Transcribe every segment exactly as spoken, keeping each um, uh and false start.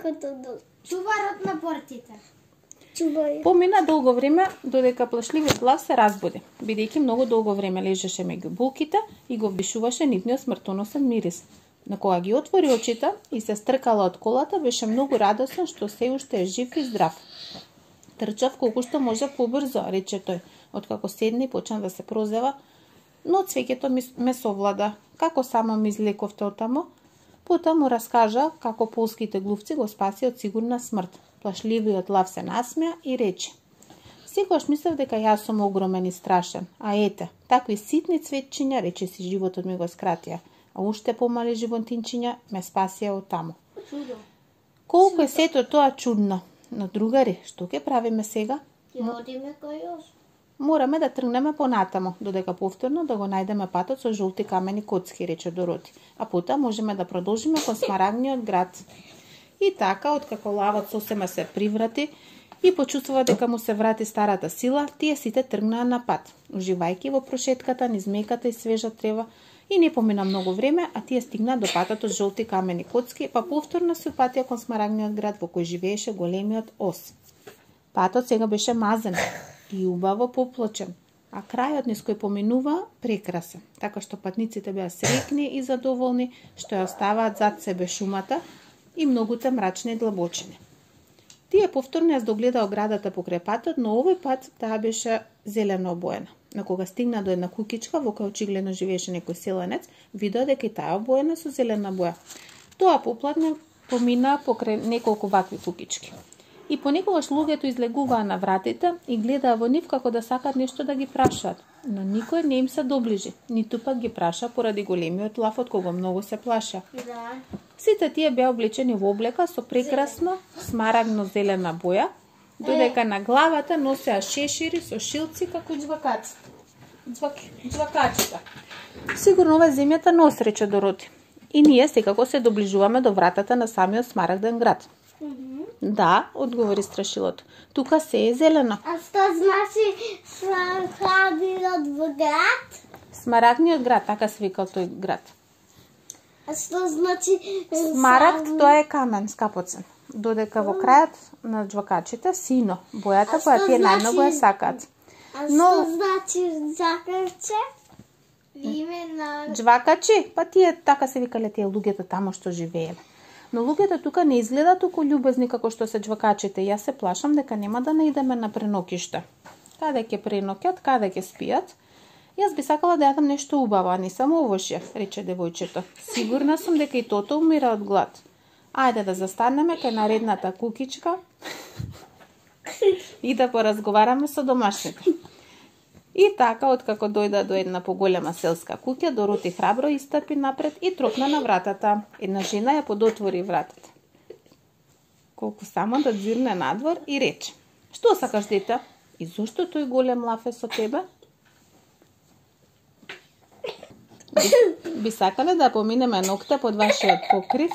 некото до Чуварот на портите. чувај. Помина долго време додека плашливиот лав се разбуди, бидејќи многу долго време лежеше меѓу булките и го вдишуваше нивниот смртоносен мирис. На кога ги отвори очите и се стркала од колата, беше многу радосен што се уште е жив и здрав. Трчав колку што може побрзо, рече тој, откако седне и почна да се прозева, но цвеќето ми ме совлада. Како само ми излековте од таму? Потоа му раскажа како полските глувци го спаси од сигурна смрт. Плашливиот лав се насмеа и рече: Секогаш мислев дека јас сум огромен и страшен, а ете, такви ситни цветчиња, рече си, животот ми го скратија, а уште помали животинчиња ме спасија од таму. Чудо. Колку е сето тоа чудно. Но другари, што ќе правиме сега? Ќе одиме кај јас. Мораме да тргнеме понатаму, додека повторно да го најдеме патот со жолти камени коцки, рече Дороти, а потоа можеме да продолжиме кон Смарагниот град. И така, откако лавот сосема се приврати и почувствува дека му се врати старата сила, тие сите тргнаа на пат, уживајќи во прошетката низ меката и свежа трева, и не помина многу време, а тие стигнаа до патот од жолти камени коцки, па повторно се упатија кон Смарагниот град во кој живееше големиот ос. Патот сега беше мазен и убаво поплочен, а крајот низ кој поминува прекрасен, така што патниците беа среќни и задоволни што ја оставаат зад себе шумата и многуте мрачни и длабочини. Тие повторно ја догледа оградата покрај патот, но овој пат таа беше зелено обоена. На кога стигна до една кукичка во која очигледно живееше некој селенец, видеа дека и таа обоена со зелена боја. Тоа поплатне помина покрај неколку вакви кукички. И понекогаш луѓето излегуваа на вратите и гледаа во нив како да сакаат нешто да ги прашаат, но никој не им се доближи, ниту пак ги праша поради големиот лав од кого многу се плаша. Да. Сите тие беа облечени во облека со прекрасно смарагно-зелена боја, додека на главата носеа шешири со шилци како џвакаци. Џвак... Џвакачита. Сигурно ова земјата нос, рече Дороти. И ние секако се доближуваме до вратата на самиот Смарагден град. Мгм. Да, одговори страшилото. Тука се е зелено. А што значи Смарагниот во град? Смарагниот град, така се викал тој град. А што значи Смарагд, тоа е камен, скапоцен. Додека во крајот на џвакачите сино, бојата А која што тие најмногу ја значи- сакаат. А Но- што значи закрче? Име на Џвакачи, па тие така се викале тие луѓето таму што живееле. Но луѓето тука не изгледаат толку љубезни како што се џвакачите. Јас се плашам дека нема да наидеме на пренокиште. Каде ќе преноќат, каде ќе спијат? Јас би сакала да јадам нешто убаво, а не само овошје, рече девојчето. Сигурна сум дека и тото умира од глад. Ајде да застанеме кај наредната кукичка и да поразговараме со домашните. И така, откако дојда до една поголема селска куќа, Дороти храбро истапи напред и тропна на вратата. Една жена ја подотвори вратата. Колку само да дзирне надвор и рече: Што сакаш, дете? И зошто тој голем лав е со тебе? Би, би сакале да поминеме ноќта под вашиот покрив?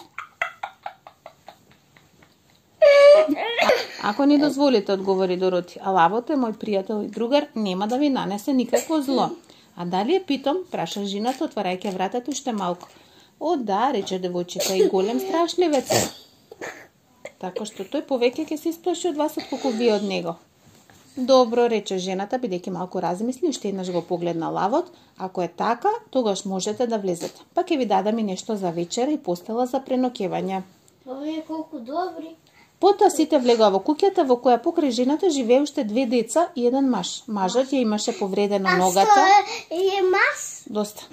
Ако ни дозволите, одговори Дороти, а лавот е мој пријател и другар, нема да ви нанесе никакво зло. А дали е питом, праша жената, отварајќи вратата уште малку. О, да, рече девојчето, и голем страшливец е. Така што тој повеќе ќе се исплаши од вас отколку вие од него. Добро, рече жената, бидејќи малку размисли, уште еднаш го погледна лавот. Ако е така, тогаш можете да влезете. Па ќе ви дадам и нешто за вечера и постела за преноќевање. Овие колку добри. Потоа сите влегоа во куќата во која покрај жената живее уште две деца и еден маж. Мажот ја имаше повредено А ногата. што е, е мас? Доста.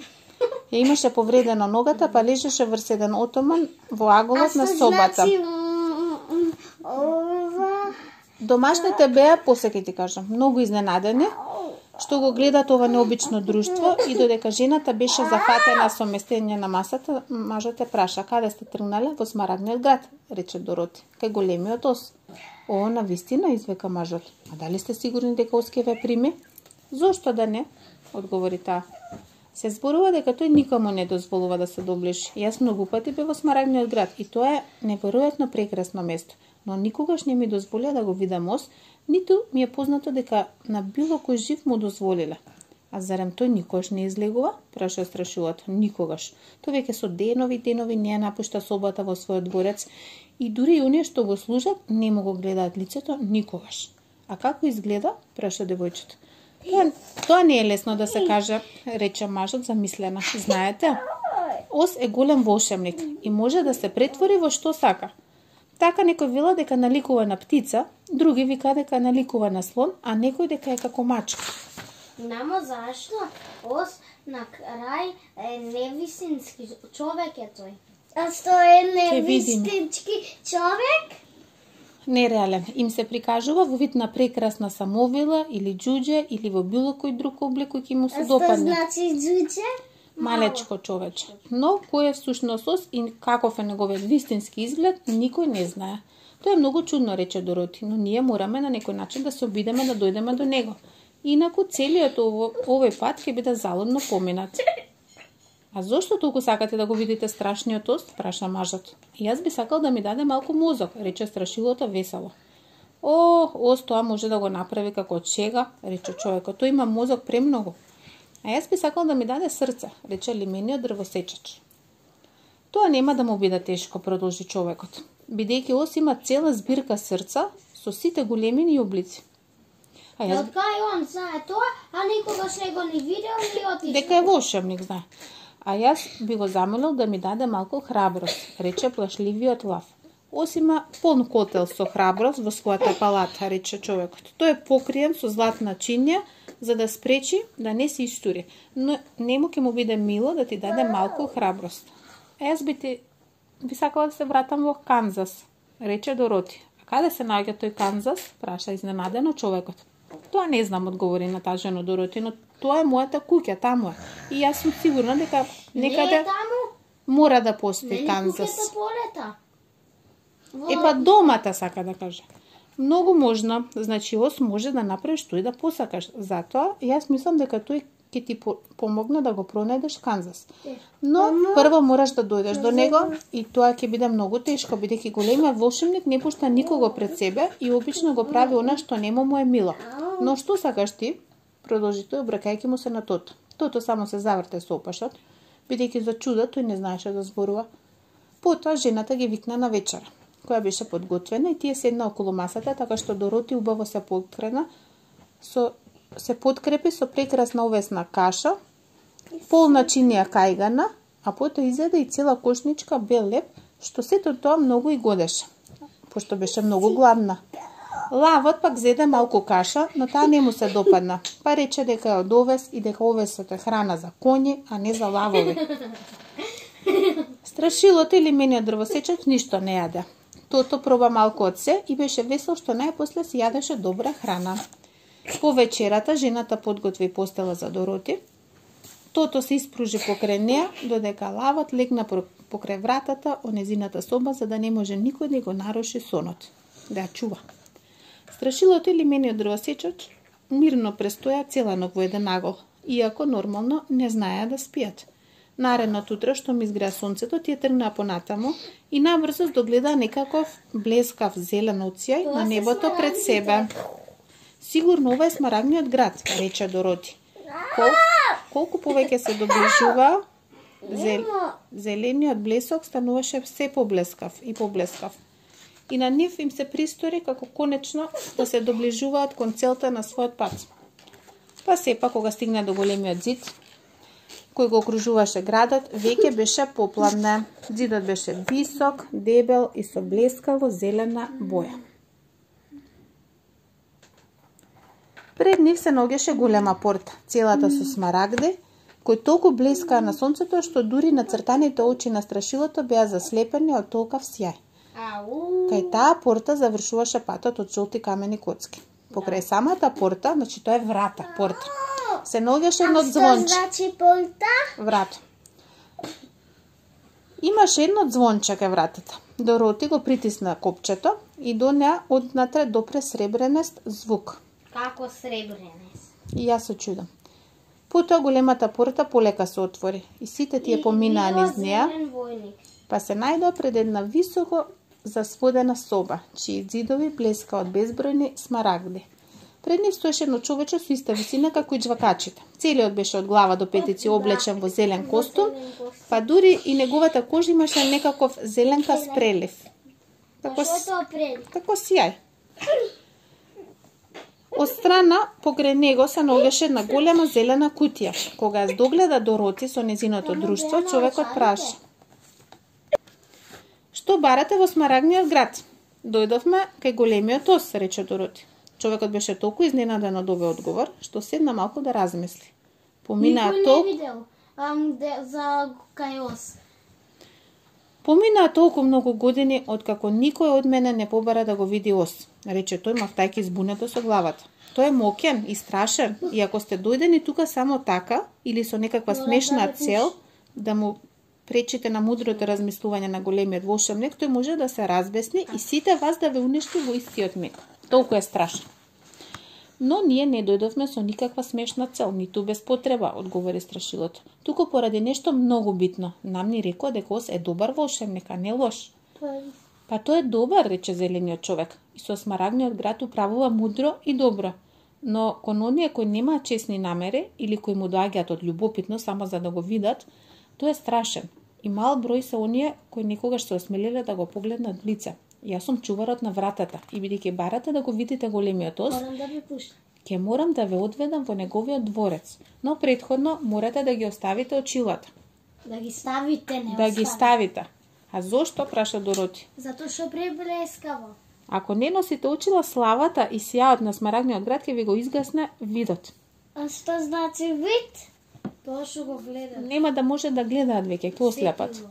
Ја имаше повредено ногата, па лежеше врз еден отоман во А аголот на што собата. значи м, м, ова? Домашните беа, после ќе ти кажам, многу изненадени што го гледат ова необично друштво и додека жената беше зафатена со местење на масата, мажот ја праша: Каде сте тргнале? Во Смарагниот град, рече Дороти, кај големиот ос. О, навистина, извика мажот. А дали сте сигурни дека ос ќе ве прими? Зошто да не? Одговори таа. Се зборува дека тој никому не дозволува да се доближи. Јас многу пати бев во Смарагниот град и тоа е неверојатно прекрасно место, но никогаш не ми дозволија да го видам ос, ниту ми е познато дека на било кој жив му дозволиле. А зарем тој никогаш не излегува? Праша страшилото. Никогаш. Тој веќе со денови денови не ја напушта собата во својот дворец и дури и оние што го служат не му го гледаат лицето никогаш. А како изгледа? Праша девојчето. Тоа, тоа не е лесно да се каже, рече мажот замислена. Знаете, ос е голем волшебник и може да се претвори во што сака. Така некој вела дека наликува на птица, други вика дека наликува на слон, а некој дека е како мачка. Намо зашто ос на крај е невистински човек е тој. А што е Ќе видиме. невистински човек? Нереален. Им се прикажува во вид на прекрасна самовила или џуџе или во било кој друг облик кој ќе му се А што допадне. значи џуџе? Малечко човече. Но кој е всушност ос и каков е неговиот вистински изглед, никој не знае. Тоа е многу чудно, рече Дороти, но ние мораме на некој начин да се обидеме да дојдеме до него. Инаку целиот ово, овој пат ќе биде залудно поминат. А зошто толку сакате да го видите страшниот ос? Праша мажот. И јас би сакал да ми даде малку мозок, рече страшилото весело. О, ос тоа може да го направи како од шега, рече човекот. Тој има мозок премногу. А јас би сакал да ми даде срце, рече лимениот дрвосечач. Тоа нема да му биде тешко, продолжи човекот, бидејќи ос има цела збирка срца со сите големини и облици. А јас Од кај он знае тоа, а никогаш не го ни видел ни отишел. дека е волшебник, знае. А јас би го замолил да ми даде малку храброст, рече плашливиот лав. Ос има полн котел со храброст во својата палата, рече човекот. Тој е покриен со златна чинја, за да спречи да не се истури. Но нему ќе му биде мило да ти даде малку храброст. А јас би ти би сакала да се вратам во Канзас, рече Дороти. А каде се наоѓа тој Канзас? Праша изненадено човекот. Тоа не знам, одговори натажено Дороти, но тоа е мојата куќа, таму е. И јас сум сигурна дека некаде Не е таму? мора да постои Нели Канзас. куќата полета? Е па домата сака да каже. Многу можно, значи ос може да направи што и да посакаш. Затоа јас мислам дека тој ќе ти по- помогне да го пронајдеш Канзас. Но прво мораш да дојдеш до него и тоа ќе биде многу тешко, бидејќи големиот волшебник не пушта никого пред себе и обично го прави она што нему му е мило. Но што сакаш ти? Продолжи тој, обракајќи му се на Тото. Тото само се заврте со опашот, бидејќи за чудо тој не знаеше да зборува. Потоа жената ги викна на вечера, која беше подготвена и тие седна околу масата, така што Дороти убаво се подкрена, со, се подкрепи со прекрасна овесна каша, полна чинија кајгана, а потоа изеде и цела кошничка бел леп, што сето тоа многу и годеше, пошто беше многу гладна. Лавот пак зеде малку каша, но таа не му се допадна, па рече дека е од овес и дека овесот е храна за коњи, а не за лавови. Страшилото или мениот дрвосечач ништо не јаде. Тото проба малку од се и беше весел што најпосле си јадеше добра храна. По вечерата жената подготви постела за Дороти. Тото се испружи покрај неа, додека лавот легна покрај вратата од незината соба за да не може никој да го наруши сонот, да ја чува. Страшилото или мениот дрвосечач мирно престоја цела ног во еден агол, иако нормално не знаеа да спијат. Наредното утро, што ми изгреа сонцето, тие тргнаа понатаму и набрзо догледаа некаков блескав зелен оцјај на небото пред себе. Сигурно ова е смарагниот град, рече Дороти. Кол, колку повеќе се доближува, зел, зелениот блесок стануваше се поблескав и поблескав. И на нив им се пристори како конечно да се доближуваат кон целта на својот пат. Па сепак, кога стигна до големиот зид, кој го окружуваше градот, веќе беше попладне. Зидот беше висок, дебел и со блескаво зелена боја. Пред нив се наоѓаше голема порта, целата со смарагди, кој толку блескаа на сонцето што дури нацртаните очи на страшилото беа заслепени од толкав сјај. Ау. Кај таа порта завршуваше патот од жолти камени коцки. Покрај самата порта, значи тоа е врата, порта, се наоѓаше едно звонче. Што значи порта? Врата. Имаше едно звонче кај вратата. Дороти го притисна копчето и до неа однатре допре сребреност звук. Како сребренес. И јас се чудам. Потоа големата порта полека се отвори и сите тие поминаа низ неа, па се најдоа пред една високо засводена соба, чии ѕидови блеска од безбројни смарагди. Пред нив стоеше едно човече со иста висина како и џвакачите. Целиот беше од глава до петици облечен во зелен костум, па дури и неговата кожа имаше некаков зеленкаст прелив. Како, како сјај. Од страна покрај него се наоѓаше една голема зелена кутија. Кога ја догледа Дороти со незиното друштво, човекот праша: "Што барате во Смарагниот град?" "Дојдовме кај големиот ос," рече Дороти. Човекот беше толку изненаден од овој одговор, што седна малку да размисли. Поминаа толку... Никој не видел ам, де, за кај ос. Поминаа толку многу години откако никој од мене не побара да го види ос, рече тој мавтајки збунето со главата. Тој е моќен и страшен, и ако сте дојдени тука само така или со некаква смешна цел да му пречите на мудрото размислување на големиот волшебник, тој може да се разбесни и сите вас да ве уништи во истиот миг. Толку е страшен. Но ние не дојдовме со никаква смешна цел, ниту без потреба, одговори страшилото. Туку поради нешто многу битно. Нам ни рекоа дека ос е добар волшебник, а не лош. Па тој е добар, рече зелениот човек. И со Смарагниот град управува мудро и добро. Но кон оние кои немаат честни намери или кои му доаѓаат од љубопитно само за да го видат, тој е страшен. И мал број се оние кои некогаш се осмелиле да го погледнат лице. Јас сум чуварот на вратата и бидејќи барате да го видите големиот ос, Морам да ви пуштам. ќе морам да ве одведам во неговиот дворец, но претходно морате да ги оставите очилата. Да ги ставите, не Да ги ставите. А зошто, праша Дороти? Затоа што преблескаво. Ако не носите очила, славата и сјаот на Смарагниот град ќе ви го изгасне видот. А што значи вид? Тоа што го гледам. Нема да може да гледаат веќе, ќе ослепат.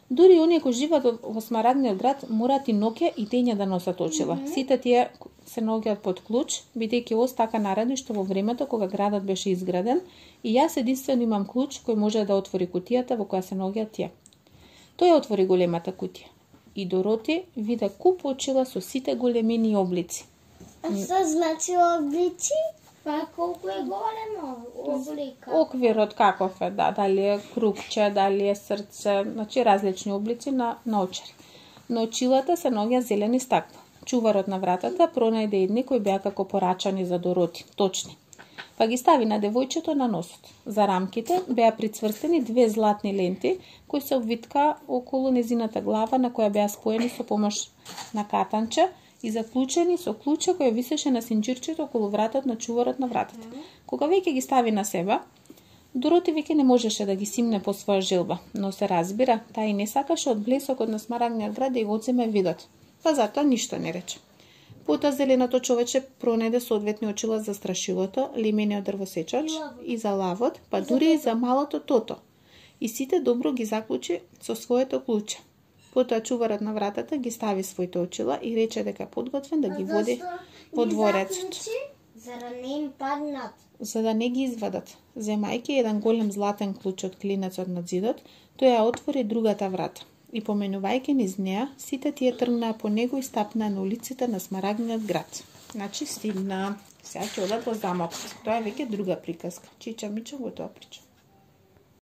Дури оние кои живеат во Смарагниот град мораат и ноќе и дења да носат очила. Mm -hmm. Сите тие се наоѓаат под клуч, бидејќи ос така нареди што во времето кога градот беше изграден, и јас единствено имам клуч кој може да отвори кутијата во која се наоѓаат тие. Тој отвори големата кутија и Дороти виде куп очила со сите големини и облици. А што значи облици? Па колку е големо облика. Оквирот каков е, да, дали е крупче, дали е срце, значи различни облици на, на очари. На очилата се наоѓа зелени стакла. Чуварот на вратата пронајде едни кои беа како порачани за Дороти, точни. Па ги стави на девојчето на носот. За рамките беа прицврстени две златни ленти кои се обвитка околу незината глава, на која беа споени со помош на катанче и заклучени со клуче кој висеше на синџирчето околу вратот на чуварот на вратата. Кога веќе ги стави на себе, Дороти веќе не можеше да ги симне по своја желба, но се разбира, таа и не сакаше од блесокот на Смарагниот град да ја одземе видот. Па затоа ништо не рече. Потоа зеленото човече пронајде соодветни очила за страшилото, лимениот дрвосечач и за лавот, па дури и за малото тото. И сите добро ги заклучи со своето клуче. Потоа чуварот на вратата ги стави своите очила и рече дека подготвен да ги води во дворецот. За да не им паднат. За да не ги извадат. Земајќи еден голем златен клуч од клинецот на зидот, тој ја отвори другата врата. И поменувајќи низ неа, сите тие тргнаа по него и стапнаа на улиците на Смарагниот град. Значи стигна. Сега ќе одат во замокот. Тоа е веќе друга приказка. Чича Мичо го тоа прича.